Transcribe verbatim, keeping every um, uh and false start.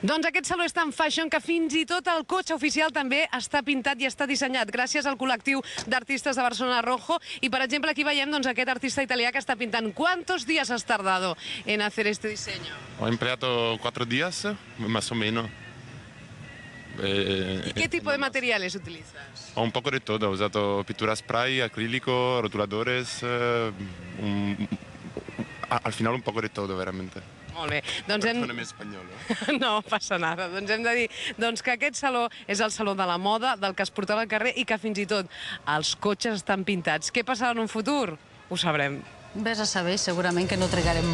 Doncs aquest saló és tan fashion que fins i tot el cotxe oficial també està pintat i està dissenyat gràcies al col·lectiu d'artistes de Barcelona Rojo. I, per exemple, aquí veiem doncs, aquest artista italià que està pintant. ¿Cuántos días has tardado en hacer este diseño? Ho empleado cuatro días, más o menos. Eh, ¿Y qué tipo de materiales utilizas? Un poco de todo, he usado pintura spray, acrílico, rotuladores, eh, un, al final un poco de todo, veramente. Molt bé. Doncs hem... Perdóname espanyol, eh? No passa nada. Doncs hem de dir doncs, que aquest saló és el saló de la moda, del que es portava al carrer i que fins i tot els cotxes estan pintats. Què passarà en un futur? Ho sabrem. Ves a saber, segurament que no trigarem molt.